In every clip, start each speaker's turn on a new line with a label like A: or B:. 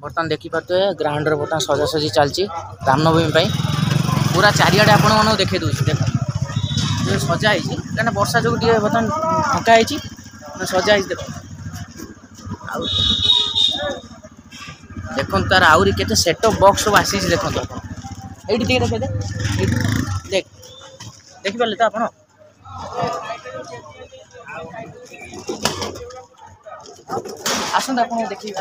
A: ବର୍ତ୍ତମାନ ଦେଖିପାରୁଥିବେ ଗ୍ରାଉଣ୍ଡରେ ବର୍ତ୍ତମାନ ସଜାସଜି ଚାଲିଛି ରାମନବମୀ ପାଇଁ। ପୁରା ଚାରିଆଡ଼େ ଆପଣମାନଙ୍କୁ ଦେଖେଇ ଦେଉଛି। ଦେଖନ୍ତୁ ସଜା ହେଇଛି, କାହିଁକିନା ବର୍ଷା ଯୋଗୁଁ ଟିକେ ବର୍ତ୍ତମାନ ଫାଙ୍କା ହେଇଛି, ସଜା ହେଇଛି। ଦେଖନ୍ତୁ ଆଉ ଦେଖନ୍ତୁ ତାର ଆହୁରି କେତେ ସେଟଅପ୍ ବକ୍ସ ସବୁ ଆସିଛି। ଦେଖନ୍ତୁ ଆପଣ ଏଇଠି ଟିକେ ଦେଖେଇଦେ, ଏଇଠି ଦେଖ, ଦେଖିପାରିଲେ ତ ଆପଣ? ଆସନ୍ତୁ ଆପଣଙ୍କୁ ଦେଖିବି।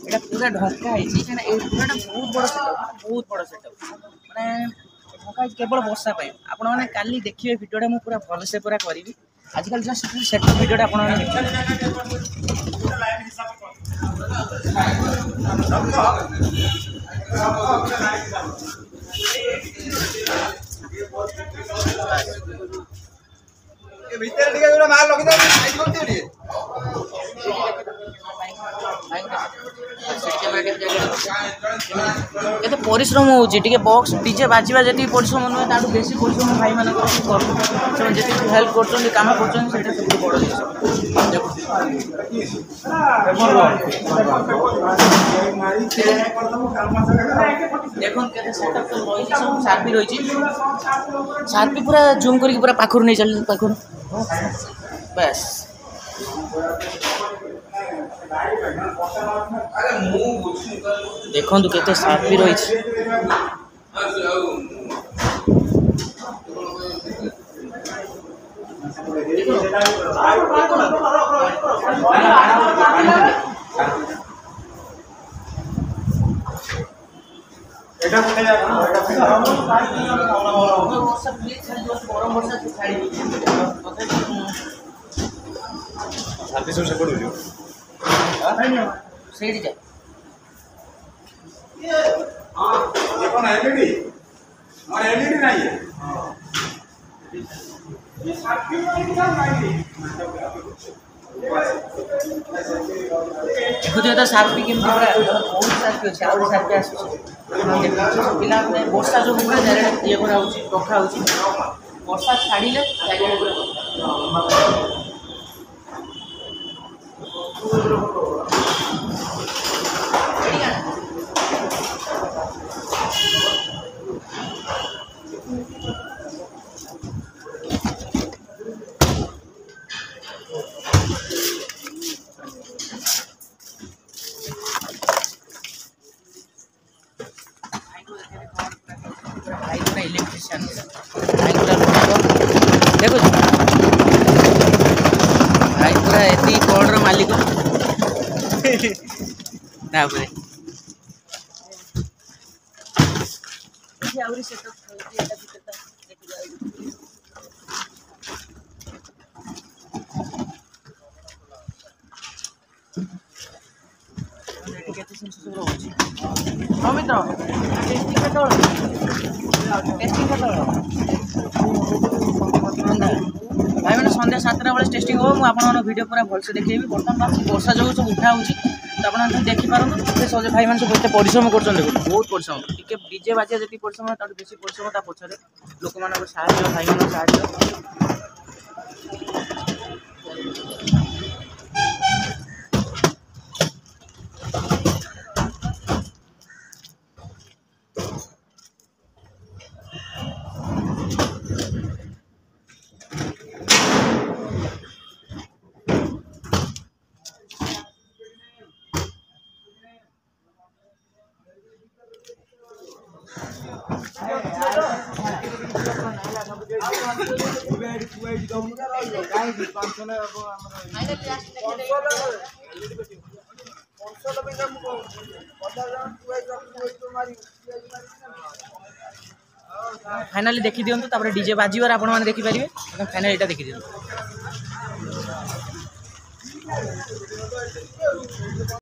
A: ଏଇଟା ପୁରା ଢଙ୍କା ହେଇଛି, କାହିଁକିନା ଏଇ ପୁରାଟା ବହୁତ ବଡ଼ ସେଟଅପ୍, ବହୁତ ବଡ଼ ସେଟଅପ୍, ମାନେ ଢଙ୍କା ହେଇଛି କେବଳ ବର୍ଷା ପାଇଁ। ଆପଣମାନେ କାଲି ଦେଖିବେ ଭିଡ଼ିଓଟା, ମୁଁ ପୁରା ଭଲସେ ପୁରା କରିବି। ଆଜିକାଲି ଜଷ୍ଟ ସେଟଅପ୍ ଭିଡ଼ିଓଟା ଆପଣମାନେ ଦେଖିବେ।
B: ଭିତରେ ଟିକେ ଯୋଉଟା ମାଲ ରଖିଥାଅ, ଟିକେ
A: କେତେ ପରିଶ୍ରମ ହେଉଛି। ଟିକେ ବକ୍ସ ଡିଜେ ବାଜିବା ଯେତିକି ପରିଶ୍ରମ ନୁହେଁ, ତାଠୁ ବେଶୀ ପରିଶ୍ରମ ଭାଇମାନଙ୍କର କରୁଛନ୍ତି। ସେମାନେ ଯେତିକି ହେଲ୍ପ କରୁଛନ୍ତି, କାମ କରୁଛନ୍ତି, ସେଇଟା ସବୁଠୁ ବଡ଼ ଜିନିଷ। ଦେଖନ୍ତୁ କେତେ ସେଟଅପ୍ ସବୁ ରହିଛି, ସବୁ ସାର୍ପି ରହିଛି। ସାର୍ପି ପୁରା ଜୁମ୍ କରିକି ପୁରା ପାଖରୁ ନେଇ ଚାଲିଛନ୍ତି, ପାଖରୁ ବାସ୍। ଦେଖନ୍ତୁ କେତେ ସାର୍ପି ରହିଛି। ଗରମ ବର୍ଷା ଛାଡ଼ି
B: ସବୁ ସେପଟକୁ ଯିବ,
A: ସେଇଠି ଯା।
B: କଣ ଏଲଇଡି? ମୋର ଏଲଇଡି ନାହିଁ।
A: ଦେଖୁଥିବେ ତ ସାର୍ପି କେମିତି, ପୁରା ବହୁତ ସାର୍ପି ଅଛି, ଆହୁରି ସାର୍ପି ଆସୁଛି। ପିଲାମାନେ ବର୍ଷା ଯୋଗୁଁ ପୁରା ଚାରିଆଡ଼େ ଇଏ କରାହେଉଛି, ରଖା ହେଉଛି। ବର୍ଷା ଛାଡ଼ିଲେ ଚାରିଆଡ଼େ ପୁରା। ଭାଇ ପୁରା ଇଲେକ୍ଟ୍ରିସିଆନ୍, ଭାଇ ପୁରା ଦେଖୁଛୁ, ଭାଇ ପୁରା ଏତିକି କର୍ଡ଼ର ମାଲିକ। ତାପରେ ଆହୁରି ସେଟଅପ୍। ଏଠି କେତେ ଜିନିଷ ସବୁ ରହୁଛି। ହଁ ମିତ୍ର, ଟେଷ୍ଟିଂ କେତେବେଳେ? ଟେଷ୍ଟିଂ କେତେବେଳେ? ଭାଇମାନେ, ସନ୍ଧ୍ୟା 7ଟା ବେଳେ ଟେଷ୍ଟିଂ ହେବ। ମୁଁ ଆପଣମାନଙ୍କ ଭିଡ଼ିଓ ପୁରା ଭଲସେ ଦେଖେଇବି। ବର୍ତ୍ତମାନ ବର୍ଷା ଯୋଗୁଁ ସବୁ ଉଠା ହେଉଛି, ତ ଆପଣମାନେ ଦେଖିପାରନ୍ତୁ। ସେ ସଜ ଭାଇମାନେ ସବୁ ଏତେ ପରିଶ୍ରମ କରୁଛନ୍ତି। ଦେଖନ୍ତୁ ବହୁତ ପରିଶ୍ରମ। ଟିକେ ଡିଜେ ବାଜିବା ଯେତିକି ପରିଶ୍ରମ, ତାଠୁ ବେଶୀ ପରିଶ୍ରମ ତା ପଛରେ ଲୋକମାନଙ୍କ ସାହାଯ୍ୟ, ଭାଇମାନଙ୍କ ସାହାଯ୍ୟ। ଫାଇନାଲି ଦେଖିଦିଅନ୍ତୁ, ତାପରେ ଡିଜେ ବାଜିବାର ଆପଣମାନେ ଦେଖିପାରିବେ। ଫାଇନାଲି ଏଇଟା ଦେଖିଦିଅନ୍ତୁ।